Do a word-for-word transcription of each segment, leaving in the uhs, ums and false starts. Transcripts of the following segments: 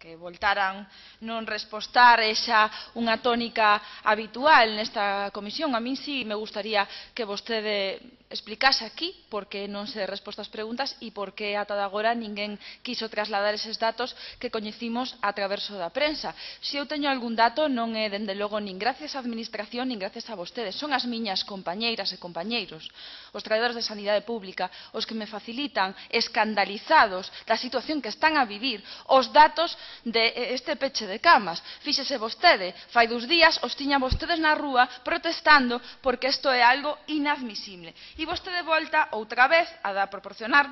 que voltaran non respostar esa unha tónica habitual nesta comisión. A min sí me gustaría que vostede explicase aquí por que non se resposta as preguntas e por que ata de agora ninguén quiso trasladar eses datos que coñecimos a traverso da prensa. Se eu teño algún dato non é, dende logo, nin gracias á Administración nin gracias a vostedes. Son as miñas compañeiras e compañeiros, os traballadores de Sanidade Pública, os que me facilitan, escandalizados da situación que están a vivir, os datos deste peche de camas. Fíxese vostede, fai dous días os tiña vostedes na rúa protestando porque isto é algo inadmisible. E vostede volta outra vez a dar proporcionar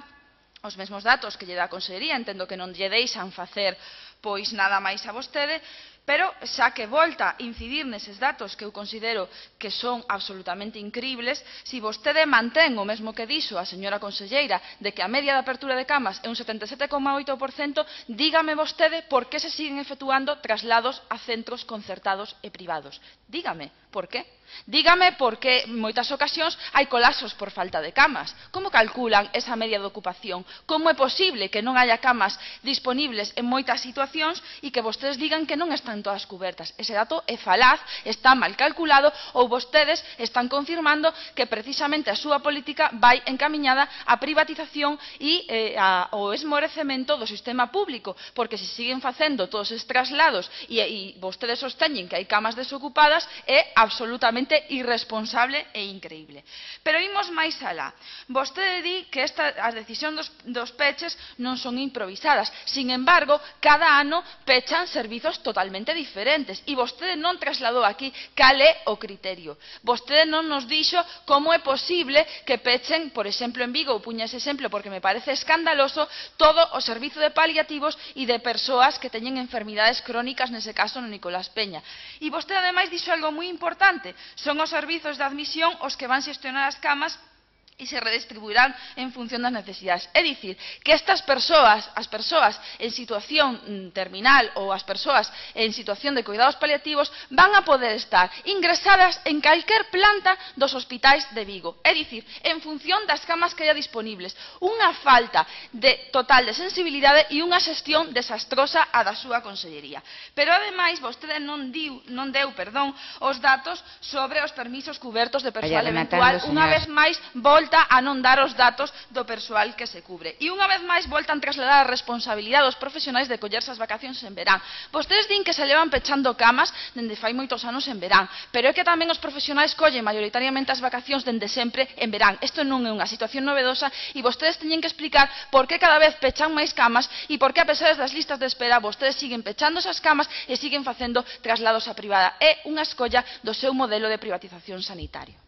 os mesmos datos que lle dá a Consellería. Entendo que non lle deixan facer pois nada máis a vostede, pero xa que volta a incidir neses datos que eu considero que son absolutamente incribles, se vostede mantén o mesmo que dixo a señora conselleira de que a media de apertura de camas é un setenta e sete coma oito por cento, dígame vostede por que se siguen efectuando traslados a centros concertados e privados. Dígame por qué. Dígame por que en moitas ocasións hai colapsos por falta de camas. Como calculan esa media de ocupación? Como é posible que non haya camas disponibles en moitas situacións e que vostedes digan que non están todas cubertas? Ese dato é falaz, está mal calculado, ou vostedes están confirmando que precisamente a súa política vai encamiñada á privatización e eh, ao esmorecemento do sistema público, porque se siguen facendo todos estes traslados e, e vostedes sosteñen que hai camas desocupadas, é absolutamente irresponsable e increíble. Pero imos máis alá. Vostede di que esta, as decisións dos, dos peches non son improvisadas. Sin embargo, cada ano pechan servizos totalmente diferentes e vostede non trasladou aquí cal é o criterio. Vostede non nos dixo como é posible que pechen, por exemplo, en Vigo, ou puña ese exemplo porque me parece escandaloso, todo o servizo de paliativos e de persoas que teñen enfermidades crónicas, nese caso no Nicolás Peña. E vostede ademais dixo algo moi importante: son os servizos de admisión os que van xestionar as camas e se redistribuirán en función das necesidades. É dicir, que estas persoas, as persoas en situación terminal ou as persoas en situación de cuidados paliativos van a poder estar ingresadas en calquer planta dos hospitais de Vigo. É dicir, en función das camas que haya disponibles. Unha falta de total de sensibilidade e unha xestión desastrosa a da súa consellería. Pero, ademais, vostede non, diu, non deu perdón, os datos sobre os permisos cubertos de persoal eventual. Unha vez máis, volta a non dar os datos do persoal que se cubre. E unha vez máis voltan a trasladar a responsabilidade dos profesionais de collerse as vacacións en verán. Vostedes din que se levan pechando camas dende fai moitos anos en verán, pero é que tamén os profesionais collen maioritariamente as vacacións dende sempre en verán. Isto non é unha situación novedosa e vostedes teñen que explicar por que cada vez pechan máis camas e por que, a pesar das listas de espera, vostedes siguen pechando esas camas e siguen facendo traslados a privada. É unha escolla do seu modelo de privatización sanitario.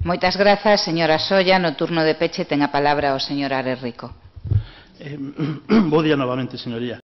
Moitas grazas, señora Solla. No turno de peche ten a palabra o señor Ares Rico. Eh, bo día novamente, señoría.